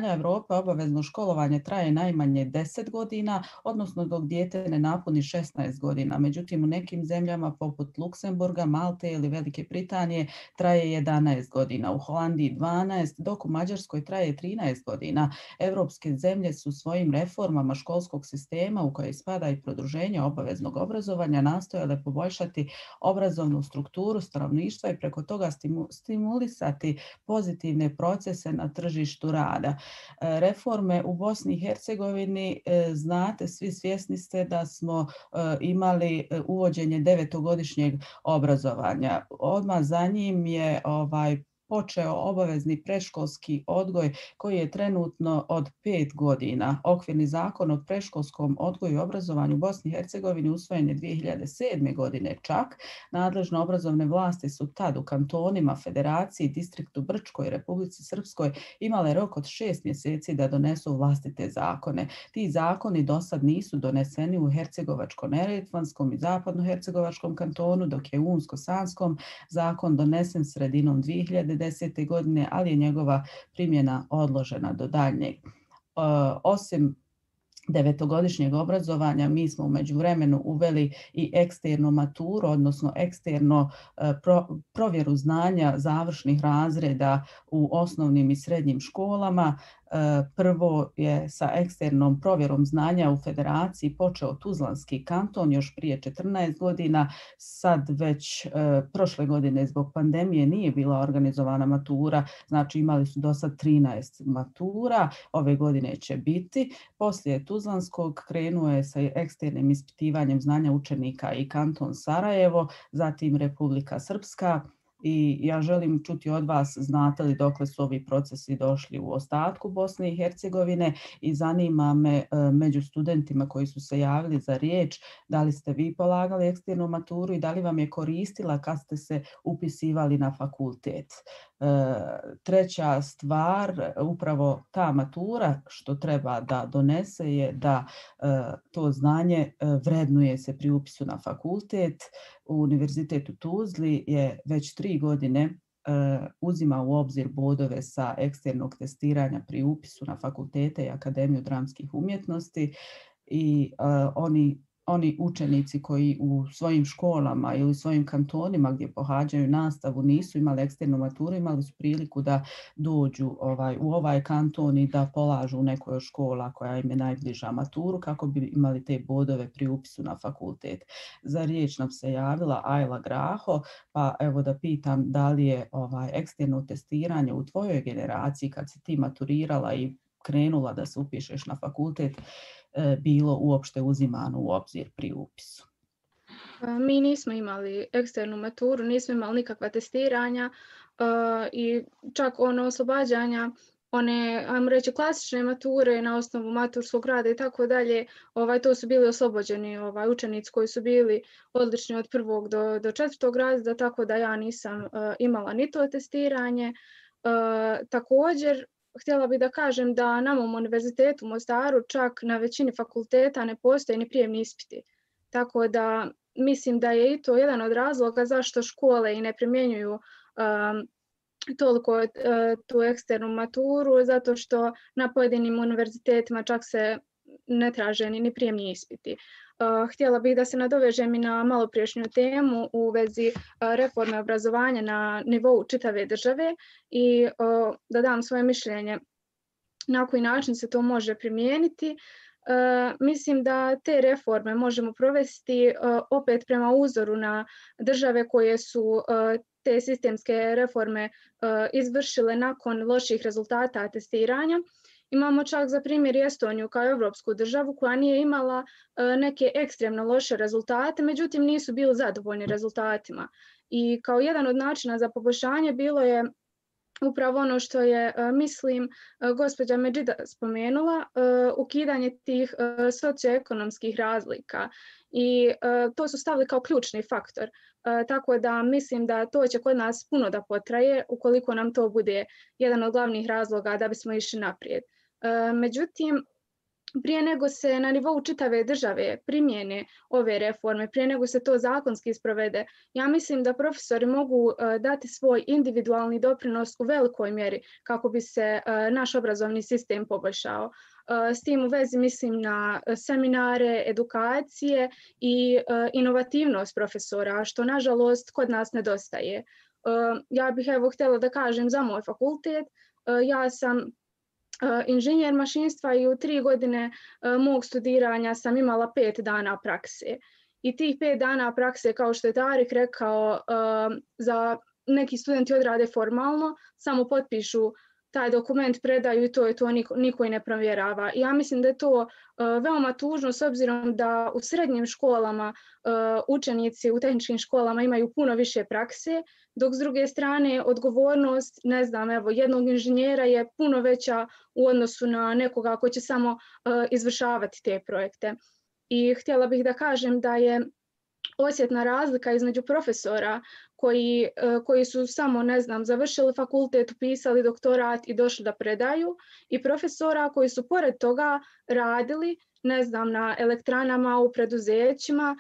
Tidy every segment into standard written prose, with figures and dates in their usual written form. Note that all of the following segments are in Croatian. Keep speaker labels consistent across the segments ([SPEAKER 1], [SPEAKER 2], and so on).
[SPEAKER 1] zemalja Europe obavezno školovanje traje najmanje 10 godina, odnosno dok dijete ne napuni 16 godina. Međutim, u nekim zemljama poput Luksemburga, Malte ili Velike Britanije traje 11 godina, u Holandiji 12, dok u Mađarskoj traje 13 godina. Europske zemlje su svojim reformama školskog sistema, u koje spada i produženje obaveznog obrazovanja, nastojale poboljšati obrazovnu strukturu stanovništva i preko toga stimulisati pozitivne procese na tržištu rada. Reforme u Bosni i Hercegovini, znate, svi svjesni ste da smo imali uvođenje 9-godišnjeg obrazovanja. Odmah za njim je počeo obavezni predškolski odgoj koji je trenutno od 5 godina. Okvirni zakon o predškolskom odgoju i obrazovanju u Bosni i Hercegovini usvojen je 2007. godine čak. Nadležne obrazovne vlasti su tad u kantonima, federaciji, distriktu Brčkoj i Republici Srpskoj imale rok od 6 mjeseci da donesu vlastite zakone. Ti zakoni do sad nisu doneseni u Hercegovačko-neretvanskom i Zapadno-hercegovačkom kantonu, dok je u Unsko-sanskom zakon donesen sredinom 2010. godine, ali je njegova primjena odložena do daljnjeg. Osim 9-godišnjeg obrazovanja, mi smo u međuvremenu uveli i eksternu maturu, odnosno eksterno provjeru znanja završnih razreda u osnovnim i srednjim školama. Prvo je sa eksternom provjerom znanja u federaciji počeo Tuzlanski kanton još prije 14 godina. Sad već prošle godine zbog pandemije nije bila organizovana matura, znači imali su do sad 13 matura, ove godine će biti. Poslije Tuzlanskog krenuo je sa eksternim ispitivanjem znanja učenika i kanton Sarajevo, zatim Republika Srpska. I ja želim čuti od vas, znate li dokle su ovi procesi došli u ostatku Bosne i Hercegovine, i zanima me među studentima koji su se javili za riječ, da li ste vi polagali eksternu maturu i da li vam je koristila kad ste se upisivali na fakultet. Treća stvar, upravo ta matura što treba da donese je da to znanje vrednuje se pri upisu na fakultet. Univerzitet u Tuzli je već 3 godine uzima u obzir bodove sa eksternog testiranja pri upisu na fakultete i Akademiju dramskih umjetnosti, i oni učenici koji u svojim školama ili svojim kantonima gdje pohađaju nastavu nisu imali eksternu maturu, imali su priliku da dođu u ovaj kanton i da polažu u nekoj od škola koja im je najbliža maturu kako bi imali te bodove pri upisu na fakultet. Za riječ nam se javila Ajla Graho, pa evo da pitam da li je eksterno testiranje u tvojoj generaciji kad si ti maturirala i krenula da se upišeš na fakultet bilo uopšte uzimano u obzir pri upisu?
[SPEAKER 2] Mi nismo imali eksternu maturu, nismo imali nikakva testiranja i čak oslobađanja, one, ajmo reći, klasične mature na osnovu maturskog rada i tako dalje, to su bili oslobođeni učenici koji su bili odlični od 1. do 4. razreda, tako da ja nisam imala ni to testiranje. Također, htjela bih da kažem da na mom univerzitetu u Mostaru čak na većini fakulteta ne postoje ni prijemni ispiti. Tako da mislim da je i to jedan od razloga zašto škole i ne primjenjuju toliko tu eksternu maturu, zato što na pojedinim univerzitetima čak se ne traže ni prijemni ispiti. Htjela bih da se nadovežem i na maloprijašnju temu u vezi reforme obrazovanja na nivou čitave države i da dam svoje mišljenje na koji način se to može primijeniti. Mislim da te reforme možemo provesti opet prema uzoru na države koje su te sistemske reforme izvršile nakon loših rezultata testiranja. Imamo čak za primjer Estoniju kao evropsku državu koja nije imala neke ekstremno loše rezultate, međutim nisu bili zadovoljni rezultatima. I kao jedan od načina za poboljšanje bilo je upravo ono što je, mislim, gospođa Medžida spomenula, ukidanje tih socioekonomskih razlika. I to su stavili kao ključni faktor. Tako da mislim da to će kod nas puno da potraje ukoliko nam to bude jedan od glavnih razloga da bismo išli naprijed. Međutim, prije nego se na nivou čitave države primjene ove reforme, prije nego se to zakonski sprovede, ja mislim da profesori mogu dati svoj individualni doprinos u velikoj mjeri kako bi se naš obrazovni sistem poboljšao. S tim u vezi mislim na seminare, edukacije i inovativnost profesora, što nažalost kod nas nedostaje. Ja bih htjela da kažem za moj fakultet. Ja sam inženjer mašinstva i u 3 godine mog studiranja sam imala 5 dana prakse. I tih 5 dana prakse, kao što je Tarik rekao, za neki studenti odrade formalno, samo potpišu taj dokument, predaju i to je to, niko i ne provjerava. Ja mislim da je to veoma tužno s obzirom da u srednjim školama učenici u tehničkim školama imaju puno više prakse, dok s druge strane odgovornost, ne znam, jednog inženjera je puno veća u odnosu na nekoga ko će samo izvršavati te projekte. I htjela bih da kažem da je osjetna razlika između profesora koji su samo, ne znam, završili fakultet, upisali doktorat i došli da predaju, i profesora koji su pored toga radili, ne znam, na elektranama, u preduzećima.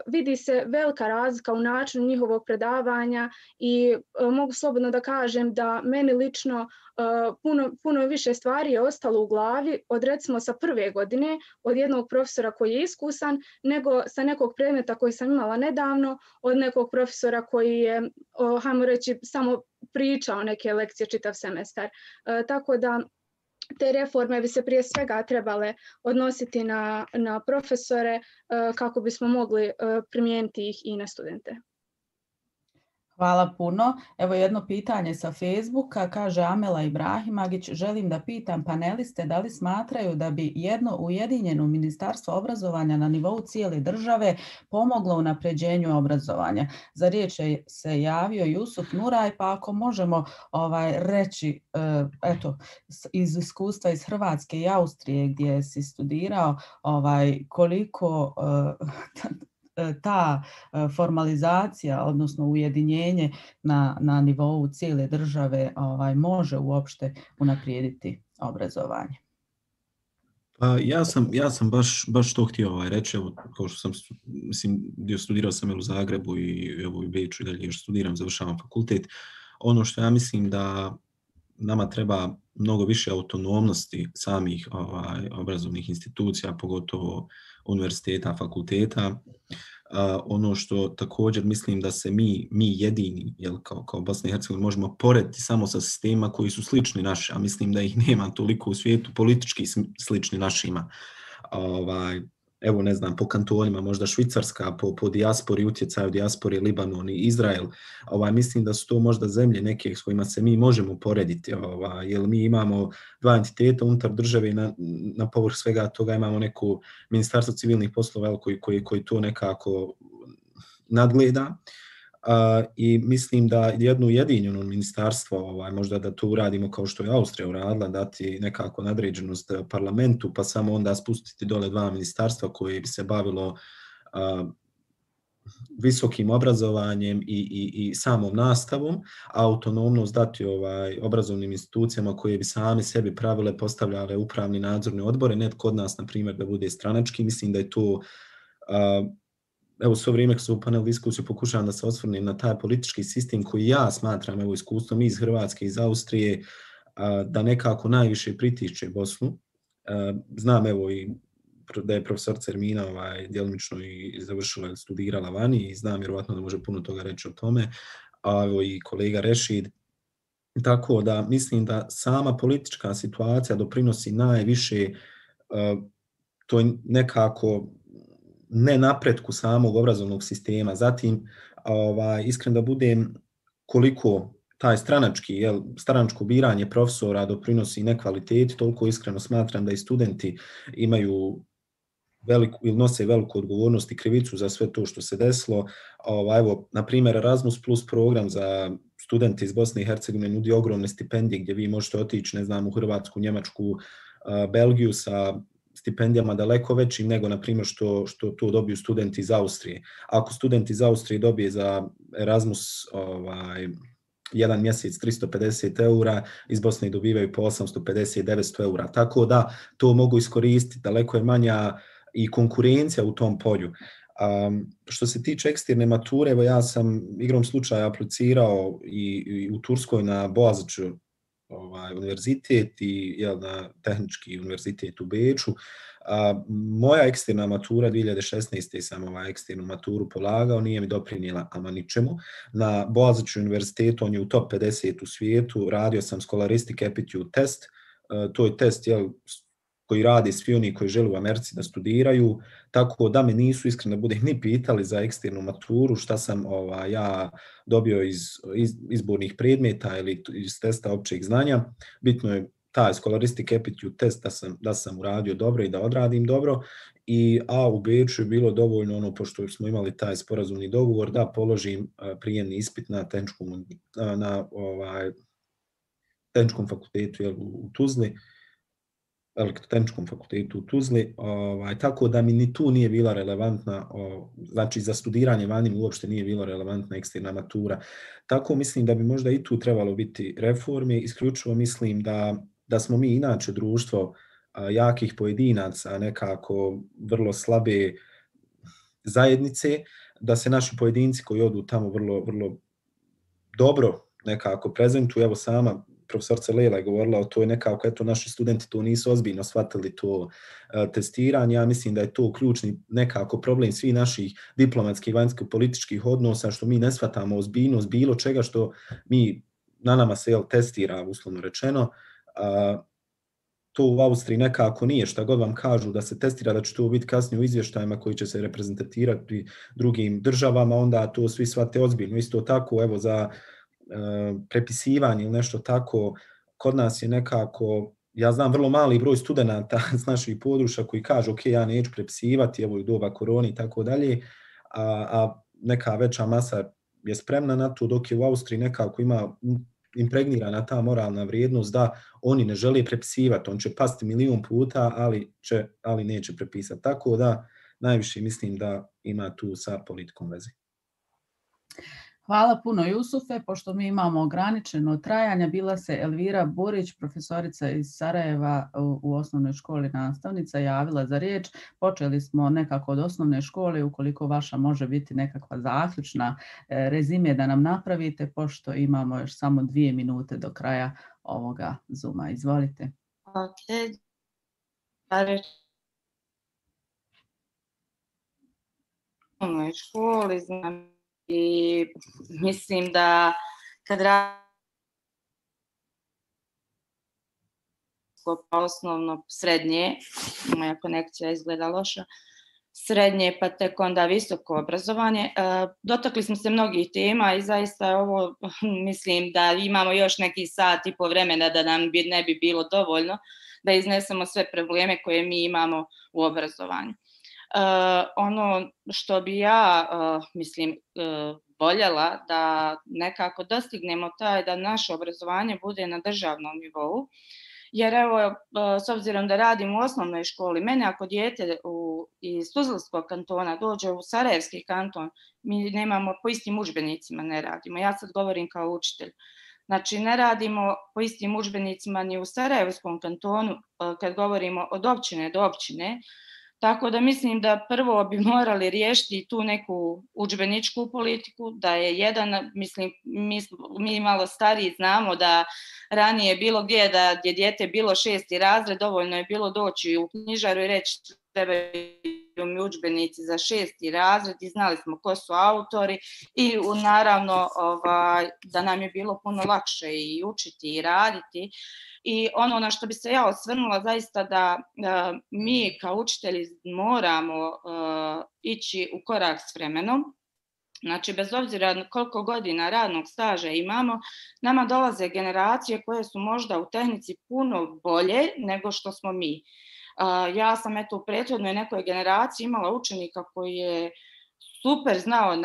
[SPEAKER 2] Vidi se velika razlika u načinu njihovog predavanja i mogu slobodno da kažem da meni lično puno više stvari je ostalo u glavi od, recimo, sa prve godine od jednog profesora koji je iskusan, nego sa nekog predmeta koji sam imala nedavno od nekog profesora koji je, hajmo reći, samo pričao neke lekcije čitav semestar. Tako da te reforme bi se prije svega trebale odnositi na profesore kako bismo mogli primijeniti ih i na studente.
[SPEAKER 1] Hvala puno. Evo jedno pitanje sa Facebooka, kaže Amela Ibrahimagić, želim da pitam paneliste da li smatraju da bi jedno ujedinjeno ministarstvo obrazovanja na nivou cijele države pomoglo u unapređenju obrazovanja. Za riječ se javio Jusuf Nuraj, pa ako možemo reći, eto, iz iskustva iz Hrvatske i Austrije gdje si studirao, koliko ta formalizacija, odnosno ujedinjenje na nivou cijele države može uopšte unaprijediti obrazovanje.
[SPEAKER 3] Ja sam baš to htio reći, evo, kao što sam, studirao sam u Zagrebu i evo u Beču i dalje još studiram, završavam fakultet. Ono što ja mislim da nama treba mnogo više autonomnosti samih obrazovnih institucija, pogotovo univerziteta, fakulteta. Ono što također mislim da se mi jedini, kao Bosna i Hercegovina, možemo porediti samo sa sistemima koji su slični naši, a mislim da ih nema toliko u svijetu, politički slični našima. Evo, ne znam, po kantonima, možda Švicarska, po dijaspori, utjecaju dijaspori, Libanon i Izrael. Mislim da su to možda zemlje neke s kojima se mi možemo porediti, jer mi imamo 2 entiteta unutar države, na povrh svega toga imamo neko ministarstvo civilnih poslova koji to nekako nadgleda. I mislim da jedno ujedinjeno ministarstvo, možda da to uradimo kao što je Austrija uradila, dati nekako nadređenost parlamentu, pa samo onda spustiti dole 2 ministarstva koje bi se bavilo visokim obrazovanjem i samom nastavom, a autonomnost dati obrazovnim institucijama koje bi sami sebi pravile, postavljale upravni nadzorne odbore, netko od nas, na primjer, da bude stranački. Mislim da je to... Evo, svo vrijeme kad su u panel diskusiju pokušavam da se osvrnem na taj politički sistem koji ja smatram, evo, iskustvom iz Hrvatske, iz Austrije, da nekako najviše pritišće Bosnu. Znam, evo, i da je profesorica Ermina djelomično i završila, studirala vani i znam vjerovatno da može puno toga reći o tome, a evo i kolega Rešid. Tako da mislim da sama politička situacija doprinosi najviše to nekako ne napretku samog obrazovnog sistema. Zatim, iskren da budem, koliko taj stranačko biranje profesora doprinosi nekvaliteti, toliko iskreno smatram da i studenti imaju ili nose veliku odgovornost i krivicu za sve to što se desilo. Evo, na primjer, Erasmus Plus program za studente iz Bosne i Hercegovine nudi ogromne stipendije gdje vi možete otići, ne znam, u Hrvatsku, Njemačku, Belgiju sa stipendijama daleko većim nego, na primjer, što to dobiju studenti iz Austrije. Ako student iz Austrije dobije za Erasmus jedan mjesec 350 eura, iz Bosne dobivaju po 850-900 eura. Tako da to mogu iskoristiti, daleko je manja i konkurencija u tom polju. Što se tiče eksterne mature, evo ja sam igrom slučaja aplicirao i u Turskoj na Boğaziçi univerzitet i na Tehnički univerzitet u Beču. Moja eksterna matura 2016. sam eksternu maturu polagao, nije mi doprinijela ama ničemu. Na Boğaziçi univerzitetu, on je u top 50 u svijetu, radio sam Scholastic Aptitude test, to je test koji radi svi oni koji žele u Americi da studiraju, tako da me nisu iskreno budem ni pitali za eksternu maturu, šta sam ja dobio iz izbornih predmeta ili iz testa općeg znanja. Bitno je taj Scholastic Aptitude test da sam uradio dobro i da odradim dobro. A u Beču je bilo dovoljno, pošto smo imali taj sporazumni dogovor, da položim prijemni ispit na Tehničkom fakultetu u Tuzli, Elektrotehničkom fakultetu u Tuzli, tako da mi ni tu nije bila relevantna, znači za studiranje vani uopšte nije bila relevantna eksterna matura. Tako mislim da bi možda i tu trebalo biti reforme, isključivo mislim da smo mi inače društvo jakih pojedinaca, nekako vrlo slabe zajednice, da se naši pojedinci koji odu tamo vrlo, vrlo dobro nekako prezentuju. Evo sama profesorica Lela je govorila o toj nekako, eto naši studenti to nisu ozbiljno shvatili to testiranje. Ja mislim da je to ključni nekako problem svih naših diplomatskih, vanjsko-političkih odnosa, što mi ne shvatamo ozbiljnost bilo čega što na nama se testira, uslovno rečeno. To u Austriji nekako nije, šta god vam kažu da se testira, da će to biti kasnije u izvještajima koji će se reprezentatirati drugim državama, onda to svi shvate ozbiljno. Isto tako, evo za prepisivanje ili nešto tako, kod nas je nekako, ja znam vrlo mali broj studenata s naših područja koji kažu ok, ja neću prepisivati, evo i doba korone i tako dalje, a neka veća masa je spremna na to, dok je u Austriji nekako ima impregnirana ta moralna vrijednost da oni ne žele prepisivati, on će pasti 1.000.000 puta, ali neće prepisati. Tako da najviše mislim da ima tu sa politikom veze.
[SPEAKER 1] Hvala puno Jusufe, pošto mi imamo ograničeno trajanje. Bila se Elvira Burić, profesorica iz Sarajeva u osnovnoj školi, nastavnica, javila za riječ. Počeli smo nekako od osnovne škole, ukoliko vaša može biti nekakva zaključna rezime da nam napravite, pošto imamo još samo 2 minute do kraja ovoga Zooma. Izvolite.
[SPEAKER 4] Ok. U osnovnoj školi znam i mislim da kad osnovno srednje, moja konekcija izgleda loša, srednje pa tek onda visoko obrazovanje. Dotakli smo se mnogih tema i zaista ovo mislim da imamo još neki sat i po vremena da nam ne bi bilo dovoljno da iznesemo sve probleme koje mi imamo u obrazovanju. Ono što bi ja voljela da nekako dostignemo da naše obrazovanje bude na državnom nivou, jer evo, s obzirom da radim u osnovnoj školi, mene ako dijete iz Tuzlanskog kantona dođe u Sarajevski kanton, mi nemamo po istim udžbenicima, ne radimo. Ja sad govorim kao učitelj. Znači, ne radimo po istim udžbenicima ni u Sarajevskom kantonu kad govorimo od općine do općine. Tako da mislim da prvo bi morali riješiti tu neku udžbeničku politiku, da je jedan, mi malo stariji znamo da ranije bilo gdje da je dijete bilo 6. razred, dovoljno je bilo doći u knjižaru i reći trebaju mi udžbenici za 6. razred i znali smo ko su autori i naravno da nam je bilo puno lakše i učiti i raditi. I ono na što bi se ja osvrnula zaista da mi kao učitelji moramo ići u korak s vremenom. Znači, bez obzira koliko godina radnog staža imamo, nama dolaze generacije koje su možda u tehnici puno bolje nego što smo mi. Ja sam u prethodnoj nekoj generaciji imala učenika koji je super znao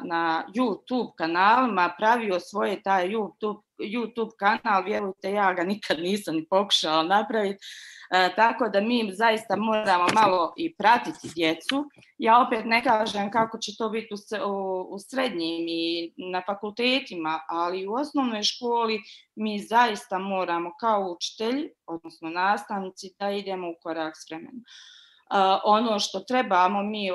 [SPEAKER 4] na YouTube kanalima, pravio svoje taj YouTube YouTube kanal, vjerujte, ja ga nikad nisam ni pokušala napraviti. Tako da mi zaista moramo malo i pratiti djecu. Ja opet ne kažem kako će to biti u srednjim i na fakultetima, ali u osnovnoj školi mi zaista moramo kao učitelji, odnosno nastavnici, da idemo u korak s vremenom. Ono što trebamo mi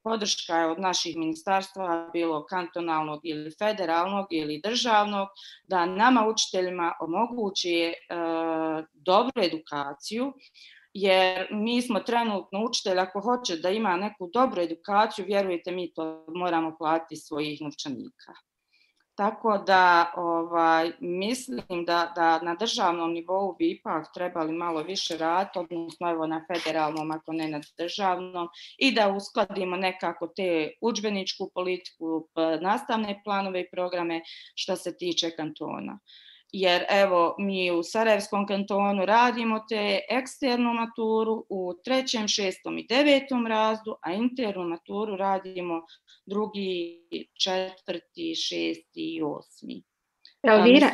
[SPEAKER 4] podrška je od naših ministarstva, bilo kantonalnog ili federalnog ili državnog, da nama učiteljima omogući dobru edukaciju, jer mi smo trenutno učitelj, ako hoće da ima neku dobru edukaciju, vjerujte, mi to moramo platiti svojih novčanika. Tako da mislim da na državnom nivou bi ipak trebali malo više raditi, odnosno evo na federalnom, ako ne na državnom, i da uskladimo nekako te udžbeničku politiku, nastavne planove i programe što se tiče kantona. Jer evo mi u Sarajevskom kantonu radimo te eksternu maturu u 3., 6. i 9. razredu, a internu maturu radimo 2., 4., 6. i 8.
[SPEAKER 5] Elvira,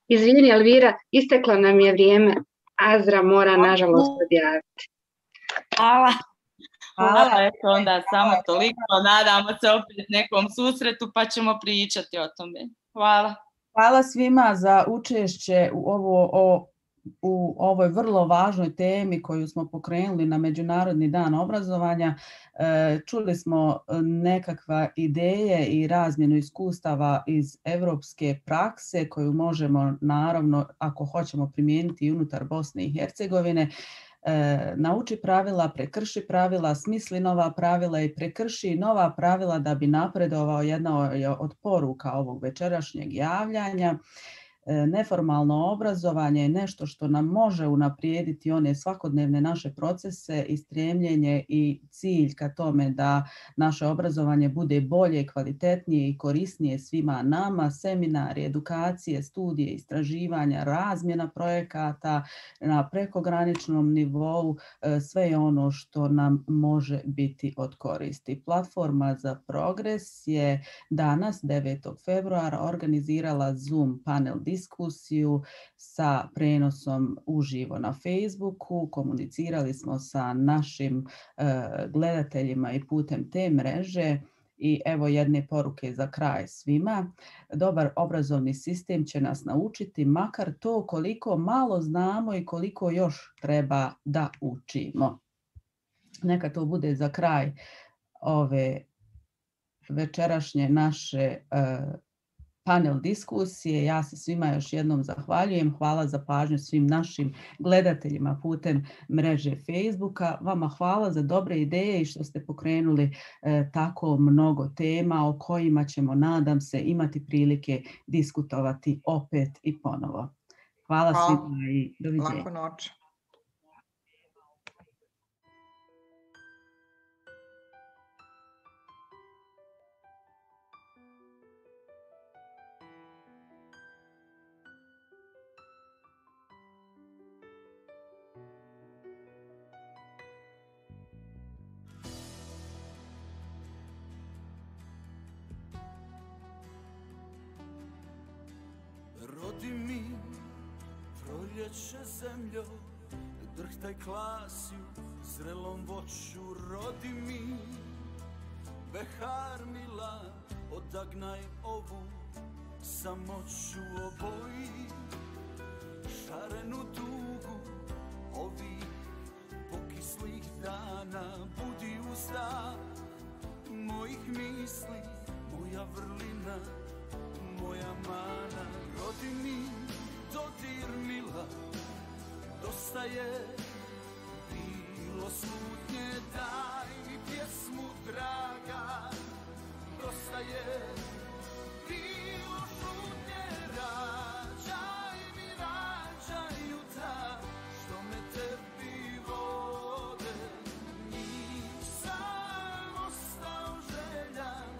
[SPEAKER 5] izvini Elvira, isteklo nam je vrijeme. Azra mora nažalost odjaviti.
[SPEAKER 4] Hvala, eto onda samo toliko. Nadamo se opet nekom susretu pa ćemo pričati o tome. Hvala.
[SPEAKER 1] Hvala svima za učešće u ovoj vrlo važnoj temi koju smo pokrenuli na Međunarodni dan obrazovanja. Čuli smo nekakva ideje i razmjenu iskustava iz evropske prakse koju možemo, naravno, ako hoćemo primijeniti i unutar Bosne i Hercegovine. Nauči pravila, prekrši pravila, smisli nova pravila i prekrši nova pravila da bi napredovao. Jedna od poruka ovog večerašnjeg javljanja. Neformalno obrazovanje je nešto što nam može unaprijediti one svakodnevne naše procese i stremljenje i cilj ka tome da naše obrazovanje bude bolje, kvalitetnije i korisnije svima nama. Seminari, edukacije, studije, istraživanja, razmjena projekata na prekograničnom nivou, sve je ono što nam može biti od koristi. Platforma za progres je danas, 9. februara, organizirala Zoom panel diskusiju sa prenosom uživo na Facebooku. Komunicirali smo sa našim gledateljima i putem te mreže. I evo jedne poruke za kraj svima. Dobar obrazovni sistem će nas naučiti makar to koliko malo znamo i koliko još treba da učimo. Neka to bude za kraj ove večerašnje naše panel diskusije. Ja se svima još jednom zahvaljujem. Hvala za pažnju svim našim gledateljima putem mreže Facebooka. Vama hvala za dobre ideje i što ste pokrenuli tako mnogo tema o kojima ćemo, nadam se, imati prilike diskutovati opet i ponovo. Hvala svima i doviđenja.
[SPEAKER 6] Laku noć.
[SPEAKER 7] Rodi mi, proljeće zemljo, drhtaj klasju, zrelom voću. Rodi mi, behar mila, odagnaj ovu samoću. Oboji šarenu tugu ovih pokislih dana. Budi uzda mojih misli, moja vrlina, moja mana. Rodi mi, dodir mila, dosta je bilo smutnje. Daj mi pjesmu draga, dosta je bilo šutnje. Rađaj mi, rađaj jutra, što me tebi vode. Nisam ostao željan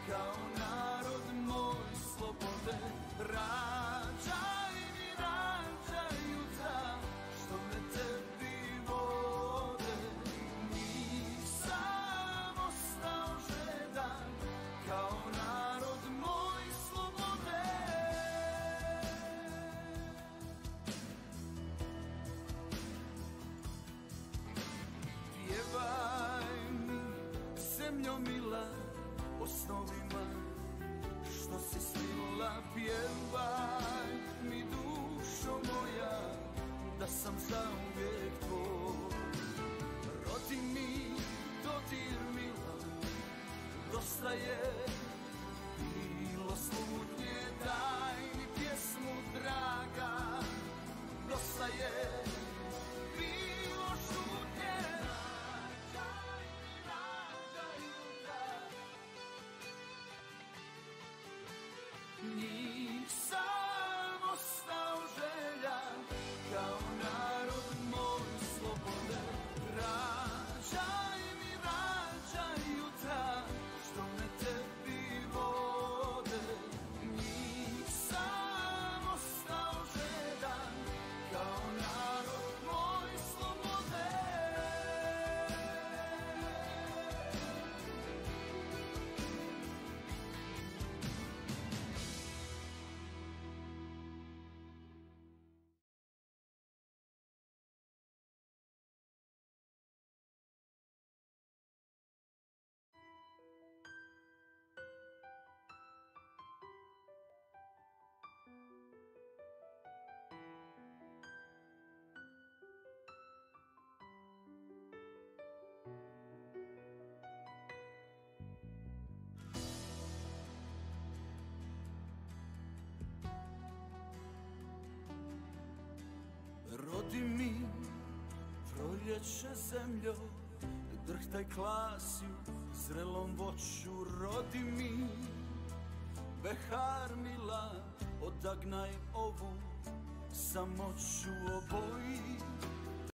[SPEAKER 7] kao narod moj slobode. Rađaj mi, rađaj jutra, što me tebi vode. Nisam ostao željan kao narod moj slobode. si snila, pjevaj mi dušo moja, da sam zauvijek tvoj. Rodi mi dodir mila, dosta je bilo slutnje, daj mi pjesmu draga, dosta je bilo šutnje. Nisam ostao željan kao narod moj slobode. Rađaj mi, rađaj jutra što me tebi vode. Nisam ostao željan kao narod moj slobode. Rodi mi proljeće zemljo, drhtaj klasju zrelom voću. Rodi mi behar mila, odagnaj ovu samoću. Oboji